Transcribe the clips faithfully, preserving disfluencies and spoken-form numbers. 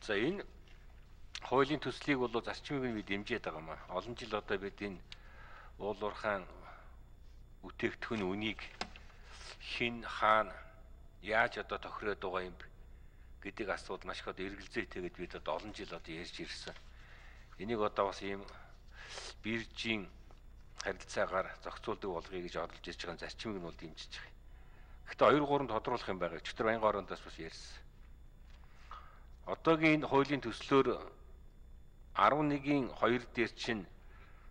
За энэ хуулийн төслийг бол зарчмыг бид дэмжиж байгаа юм аа. Олон жил одоо бид энэ уул уурхайн бүтээгдэхүүн үнийг хин хаана яаж одоо тохироод байгаа юм гэдэг асуудал маш их одоо эргэлзээтэйгээд бид одоо олон жил одоо ярьж ирсэн. Энийг одоо бас ийм биржийн харилцаагаар зохицуулдаг болгоё гэж оролж ирж байгаа зарчмыг нь бол дэмжиж байгаа. Гэхдээ хоёр гурван тодруулах юм байгаа. Өчтөр баян орондоос бас ярьсан. Одоогийн хуулийн төслөөр арван нэгin хоёр дээр чинь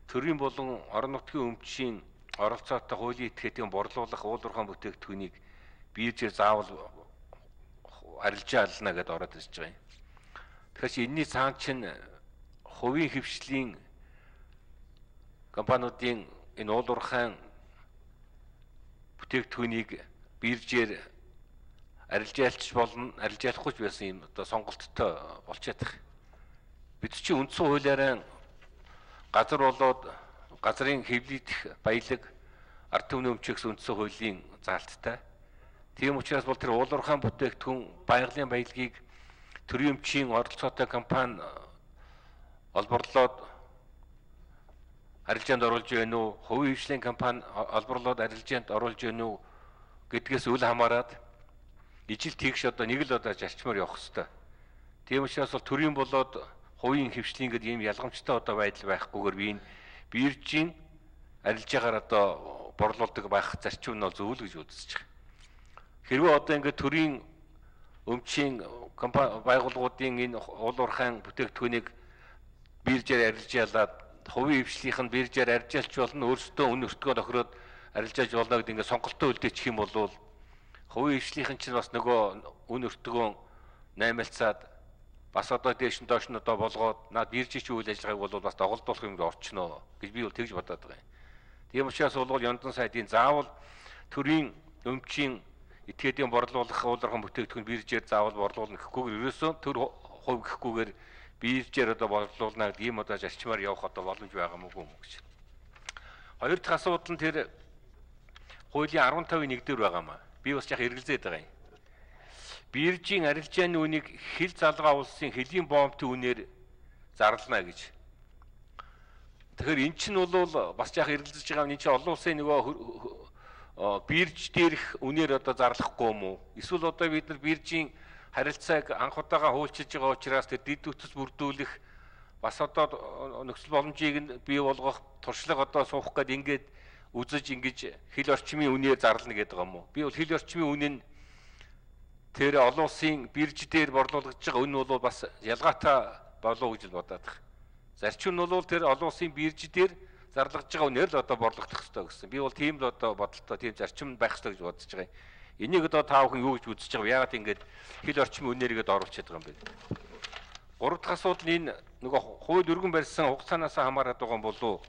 төрийн болон орон нутгийн өмчийн оролцоотой хуулийн этгээдийн борлуулах уул уурхайн бүтээгдэхүүнийг биржээр заавал арилжаална гэдээ ороод ирж байгаа юм. Тэгэхээр энэний цаана чинь хувийн хвшлийн компаниудын энэ уул уурхайн бүтээгдэхүүнийг биржээр арилжаалч болно, арилжаалахгүй ч байсан юм одоо сонголттой болчиход байгаа. Бид чинь үндсэн хуулиараа газар болоод газрын хэвлэгдэх баялаг ард түмний өмчөс үндсэн хуулийн заалттай. Тийм учраас бол тэр уул уурхайн бүтээгдэхүүн байгалийн баялагийг төрийн өмчийн оролцоотой компани олборлоод арилжаанд оруулж байна уу, хувийн хвшлийн компани олборлоод арилжаанд оруулж байна уу гэдгээс үл хамааран ижил тэгш одоо нэг л одоо зарчмаар явах хэрэгтэй. Тийм учраас бол төрийн болоод хувийн хвшлийн гэдэг ийм ялгамжтай одоо байдал байхгүйгээр би энэ биржийн арилжаагаар одоо борлуулдаг байх зарчим нь бол зөв л гэж үзэж байгаа. Хэрвээ одоо ингээд төрийн өмчийн компани байгууллагуудын энэ уул уурхайн бүтээгдэхүүнийг биржээр арилжаалаад хувийн хвшлийнх нь биржээр арилжаалч болно, өөрсдөө үн өртгөө тохироод арилжааж болно гэдэг ингээд сонголтоо үлдээчих юм бол хувийн хвшлийнх нь ч бас нөгөө үн өртгөө наймалцаад бас одоо дээш нь доош нь одоо болгоод наад биржийн үйл ажиллагааг бол бас доголдуулах юм орчноо гэж би бол тэгж бодоод байгаа юм. Тийм учраас бол Ёндон сайдын заавал төрийн өмчийн этгээдийн борлуулах уул уурхайн бүтээгдэхүүн биржээр заавал борлуулна гэхгүйгээр ерөөсөө төр хувь гэхгүйгээр биржээр одоо борлуулна гэдэг ийм одоо зарчмаар явах одоо боломж байгаа мó юм гэж. Хоёр дахь асуудал нь тэр хуулийн арван тавын нэг дээр байгаа маа. Би бас яг эргэлзээд байгаа юм. Биржийн арилжааны үнийг хил залгаа улсын хөлийн бомбын үнээр зарлана гэж. Тэгэхээр эн чинь бол бас яг эргэлзэж байгаа юм. Энд чинь олон улсын нөгөө бирж дээрх үнээр одоо зарлахгүй юм уу? Эсвэл одоо бид нар биржийн харилцааг анх удаага хуульчилж байгаа учраас тэр дэд үтс бүрдүүлэх бас одоо нөхцөл боломжийг нь бий болгох туршлага одоо суух гээд ингээд үзэж ингэж хил орчмын үнээр зарлана гэдэг юм уу? Би бол хил орчмын үнэ нь тэр олон улсын бирж дээр борлуулж байгаа үн бол бас ялгаатай болов гэж бодоод байна. Зарчим нь бол тэр олон улсын бирж дээр зарлаж байгаа үнээр л одоо борлогдох хэрэгтэй гэсэн. Би бол тийм л одоо бодолтой тийм зарчим байх хэрэгтэй гэж бодож байгаа юм. Энийг одоо та бүхэн юу гэж үзэж байгаа вэ? Яагаад ингэж хил орчмын үнээрийгээд оруулчихад байгаа юм бэ? Гурав дахь асуудал нь энэ нөгөө хууль өргөн барьсан хугацаанаас хамаарат байгаа юм болов?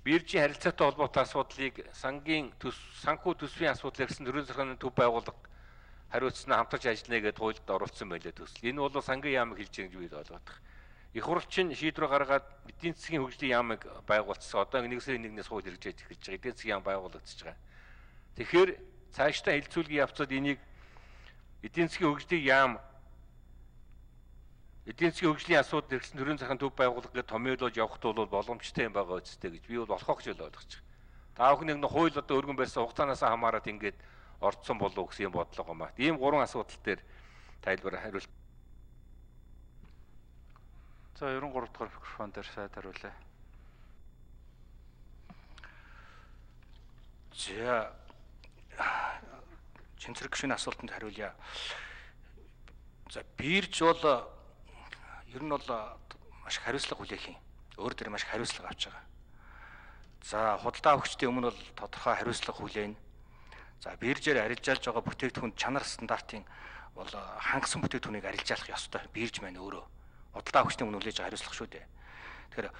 Биржийн харилцаатай холбоотой асуудлыг сангийн төс санхүү төсвийн асуудал гэсэн төрийн захиргааны төв байгууллага хариуцсан хамтарч ажиллана гэдээ хуульд оруулсан байлээ төсөл. Энэ бол сангийн яамыг хэлж байгаа гэж би ойлгоод байна. Их хурлчин шийдвэр гаргаад эдийн засгийн хөгжлийн яамыг байгуулсан. Одоо нэг сарын нэгнээс хууль хэрэгжиж эхэлж байгаа. Эдийн засгийн яам байгуулагдаж байгаа. Тэгэхээр цаашдаа хилцүүлгийн явцад энийг эдийн засгийн хөгжлийн яам эдийн засгийн хөгжлийн асуудал хэрэгсэн төрийн захиргааны төв байгууллага гэж томьёолож явахд бол боломжтой юм байгаа үстэй гэж би бол болохоо гэж ойлгож байгаа. Та бүхэн нэг хууль одоо өргөн барьсан хугацаанаас хамаарат ингээд орцсон болов гэсэн юм бодлого юм ба. Ийм гурван асуудал дээр тайлбар хариулт. За ерөн гурав дахь микрофон дээр сайд хариулъя. За Чинцэрэг гүшүүний асуултанд хариулъя. За бирж бол ер нь бол маш хариуцлага хүлээх юм. Өөр дээр маш хариуцлага авч байгаа. За худалдаа авагчдын өмнө бол тодорхой хариуцлага хүлээнэ. За биржээр арилжаалж байгаа бүтээгдэхүүн чанар стандартын бол хангасан бүтээгдэхүүнийг арилжаалах ёстой. Бирж маань өөрөө худалдаа авагчдын өмнө хүлээж байгаа хариуцлага шүү дээ. Тэгэхээр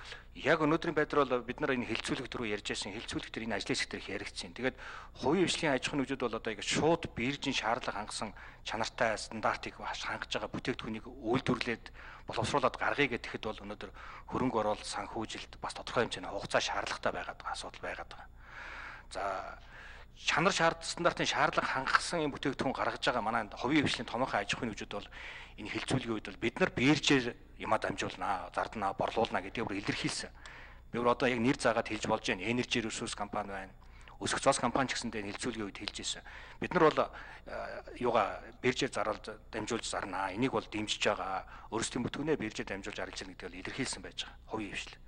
яг өнөөдрийн байдлаар бол бид нар энэ хилцүүлэг төрөө ярьж байсан хилцүүлэг төр энэ ажлын хэсэг дээр их яригдсан. Тэгээд хувийн хвшлийн аж ахуйн нэгжүүд бол одоо ингэ шууд биржийн шаардлага хангасан чанартай стандартыг хангаж байгаа бүтээгдэхүүнийг үйлдвэрлээд боловсруулад гаргая гэхэд бол өнөөдөр хөрөнгө оруулалт санхүүжилт бас тодорхой хэмжээний хугацаа шаардлагатай байгаад байгаа асуудал байгаад байгаа. За чанар шаард стандартын шаардлага хангасан юм бүтээгдэхүүн гаргаж байгаа манай хувийн хвшлийн томоохон аж ахуйн нэгжүүд бол энэ хилцүүлгийн үед бол бид нар биржээр юмаа дамжуулнаа, зарднаа, борлуулнаа гэдгийг бүр илэрхийлсэн. Би бүр одоо яг нэр заагаад хэлж болж байна. Energy Resource компани байна. Өсөх цаас компани ч гэсэндээ хилцүүлгийн үед хэлж ирсэн. Бид нар бол юугаа биржээр зараал дамжуулж зарнаа. Энийг бол дэмжиж байгаа. Өөрсдийн бүтээгнээ биржээр дамжуулж арилж байгаа гэдгийг илэрхийлсэн байж байгаа. Хувийн хвшил.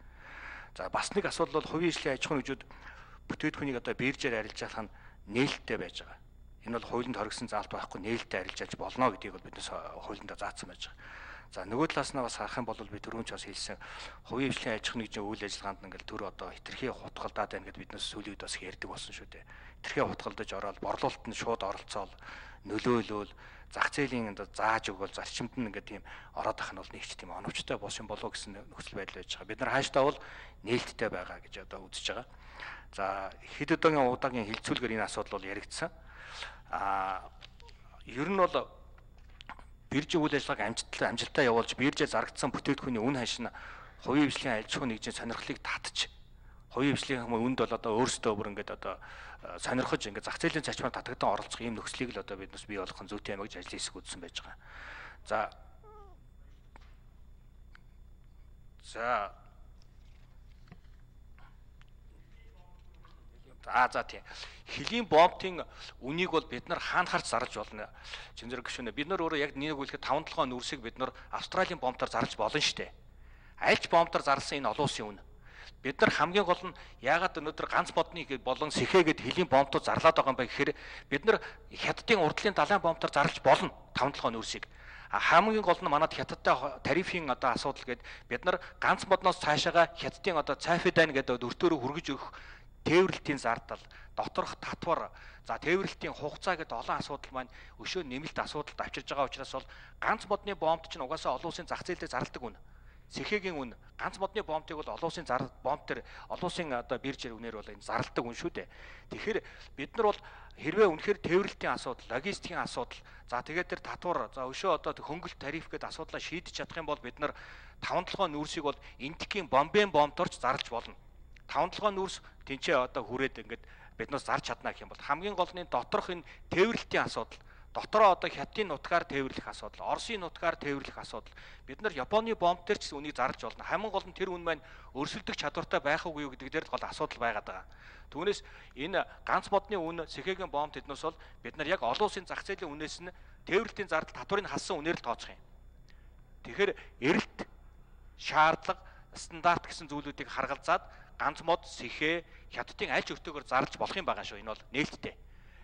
За бас нэг асуудал бол хувийн хвшлийн аж ахуйн нэгжүүд бүтээгдэхүүнийг одоо биржээр арилж авах нь нээлттэй байж байгаа. Энэ бол хуулинд хоригдсон заалт байхгүй нээлттэй арилж авч болно гэдгийг бол биднээс хуулиндаа заасан байж байгаа. За нөгөө талаас нь бас харах юм бол би түрүүн ч бас хэлсэн хувийн хвшлийн аж ахуйн нэгжийн үйл ажиллагаанд ингээл төр одоо хитрхи хутгалдаад байна гэдээ биднээс сүүлийн үед бас ярьдаг болсон шүү дээ. Хитрхи хутгалдаж ороод борлуулалтанд шууд оролцоол нөлөөлөөл зах зээлийн одоо зааж өгөөл зарчимд нь ингээд тийм ороод ах нь бол нэг ч тийм оновчтой бос юм болов гэсэн нөхцөл байдал байж байгаа. Бид нар хааштай бол нээлттэй байгаа гэж одоо үзэж байгаа. За хэд удаагийн удаагийн хилцүүлгээр энэ асуудал бол яригдсан. Аа ер нь бол биржийн үйл ажиллагааг амжилттай амжилттай явуулж биржээ зарагдсан бүтээгдэхүүний үн ханш нь хувийн хвшлийн аж ахуйн нэгжийн сонирхлыг татж хувийн хвшлийн хүнд бол одоо өөрсдөө бүр ингээд одоо сонирхож ингээд зах зээлийн зарчмаар татагдан оролцох ийм нөхцөлийг л одоо биднес бий болгох зүйтэй юм гэж ажлын хэсэг үзсэн байж байгаа. За За А за тийм. Хөлийн бомбын үнийг бол бид нар хаана харж зарлж болно. Чинзэр гүшүүнэ. Бид нар өөрөө яг нэг үлэхэд таван толгойн нүрсийг бид нар Австралийн бомбоор зарлж болно штэ. Альч бомбоор зарласан энэ олон улсын үн. Бид нар хамгийн гол нь яагаад өнөөдөр ганц модны болон сэхээгээд хөлийн бомбтууд зарлаад байгаа юм бэ гэхээр бид нар хятадын урдлын далайн бомбоор зарлж болно таван толгойн нүрсийг. Хамгийн гол нь манад хятадтай тарифын одоо асуудал гээд бид нар ганц модноос цаашаага хятадын одоо цайфидайн гэдэг өртөөрөө хүргэж өгөх тээвэрлэлтийн зардал, доторх татвар, за тээвэрлэлтийн хугацаа гэдэг олон асуудал маань өшөө нэмэлт асуудалд авчирж байгаа учраас бол ганц модны бомбд чинь угаасаа олон улсын зах зээлээр зарладаг үн. Сэхээгийн үн, ганц модны бомбыг бол олон улсын зар бомб төр олон улсын одоо биржээр үнээр бол энэ зарладаг үн шүү дээ. Тэгэхээр бид нар бол хэрвээ үнэхээр тээвэрлэлтийн асуудал, логистикийн асуудал, за тэгээд тэр татвар, за өшөө одоо хөнгөлт тариф гэдэг асуудлаа шийдэж чадах юм бол бид нар таван толгойн нүрсийг бол энтхийн бомбын бомбторч зарлж болно. Таван толгойн нүрс тэнцээ одоо хүрээд ингээд биднээс зарж чадна гэх юм бол хамгийн гол нь доторх энэ тээвэрлэлтийн асуудал, дотороо одоо хятадын нутгаар тээвэрлэх асуудал, Оросын нутгаар тээвэрлэх асуудал. Бид нар Японы бомб дээр ч үнийг зарлж болно. Хамгийн гол нь тэр үн маань өрсөлдөх чадвартай байх уу гэдэг дээр гол асуудал байгаад байгаа. Түүнээс энэ ганц модны үн сэхээгийн бомб тэднээс бол бид нар яг олон улсын зах зээлийн үнээс нь тээвэрлэлтийн зардал татварыг хассан үнээр л тооцох юм. Тэгэхээр эрэлт, шаардлага, стандарт гэсэн зүйлүүдийг харгалзаад ганц мод сэхээ хятадын аль ч өртөөгөр зарлж болох юм байгаа шүү. Энэ бол нээлттэй.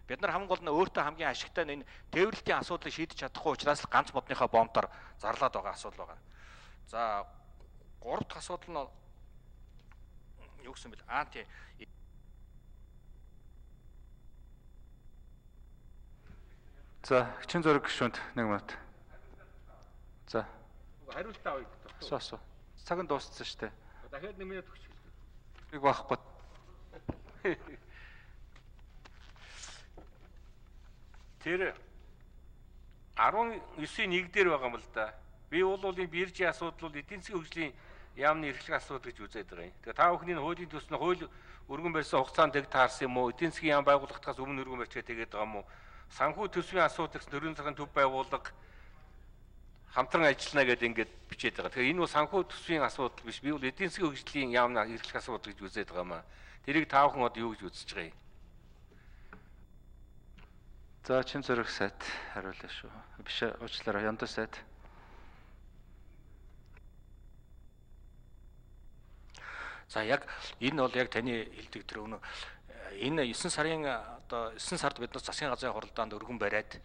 Бид нар хамгийн гол нь өөртөө хамгийн ашигтай энэ тээвэрлэлтийн асуудлыг шийдэж чадахгүй учраас ганц модныхаа бомбоор зарлаад байгаа асуудал байгаа. За гурав дахь асуудал нь юу гэсэн бэл аа тий. За чин зөрөг гүшүүнд нэг минут. За хариултаа авъя. Асуу асуу. Цаг нь дууссан шүү дээ. Дахиад нэг минут өгч. Нэг байхгүй. Тэр арван девятын нэг дээр байгаа юм л да. Би бол энэ биржийн асуудал бол эдийн засгийн хөгжлийн яамны эрхлэх асуудал гэж үзээд байгаа юм. Тэгээ та бүхний хуулийн төсний хууль өргөн барьсан хугацаанд тэг таарсан юм уу? Эдийн засгийн яам байгуулагдахаас өмнө өргөн барьчаад тэгээд байгаа юм уу? Санхүү төсвийн асуудал гэсэн төрийн цагаан төв байгууллага хамтран ажиллана гэдэг ингээд бичээд байгаа. Тэгэхээр энэ бол санхүү төсвийн асуудал биш. Би бол эдийн засгийн хөгжлийн яамны эрхлэх асуудал гэж үзээд байгаа юм аа. Тэрийг та бүхэн одоо юу гэж үзэж байгаа юм? За чин зөрөг сайт хариулъя шүү. Биш уучлаарай, Янда сайт. За яг энэ бол яг таны хэлдэг тэр өнөө энэ девять сарын одоо девять сард биднээс засгийн газрын хуралдаанд өргөн бариад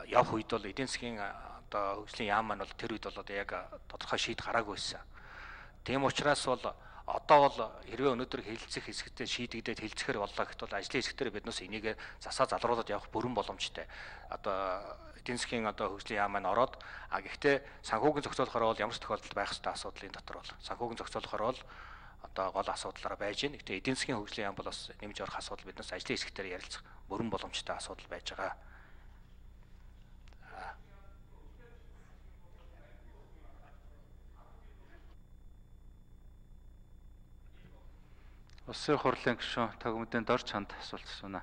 явах үед бол эдийн засгийн одоо хөгжлийн яам маань бол тэр үед бол одоо яг тодорхой шийд гараагүй байсан. Тийм учраас бол одоо бол хэрвээ өнөөдөр хэлэлцэх хэсэгтээ шийдэгдээд хэлцэхэр боллоо гэхэд бол ажлын хэсэгтэр биднээс энийг засаа залруулад явах бүрэн боломжтой. Одоо эдийн засгийн одоо хөгжлийн яам маань ороод а гэхдээ санхүүгийн зохицуулахаар бол ямар ч тохиолдолд байх ёстой асуудлын дотор бол санхүүгийн зохицуулахаар бол одоо гол асуудлаараа байж гэн. Гэхдээ эдийн засгийн хөгжлийн яам бол бас нэмж орох асуудал биднээс ажлын хэсэгтэр ярилцах бүрэн боломжтой асуудал байж байгаа. Улсын хурлын гишүүн тагмдын дор чанд асуулт асууна.